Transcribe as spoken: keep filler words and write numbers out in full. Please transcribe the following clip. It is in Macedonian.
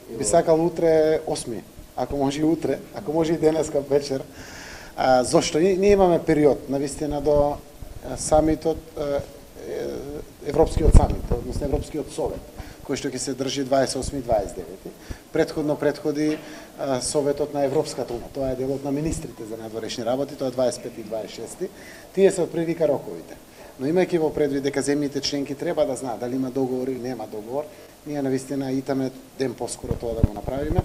Би сакал утре осми, ако може и утре, ако може и денеска вечер. А, зошто? Ние имаме период, навистина, до самитот, Европскиот самит, односно Европскиот совет, кој што ќе се држи дваесет и осми и дваесет и девети. Предходно предходи а, Советот на Европската унија, тоа е делот на министрите за надворешни работи, тоа е дваесет и пети и дваесет и шести. Тие се отприлика роковите. Но имајќи во предвид дека земјите членки треба да знаат дали има договор или нема договор, ние навистина итаме ден поскоро тоа да го направиме.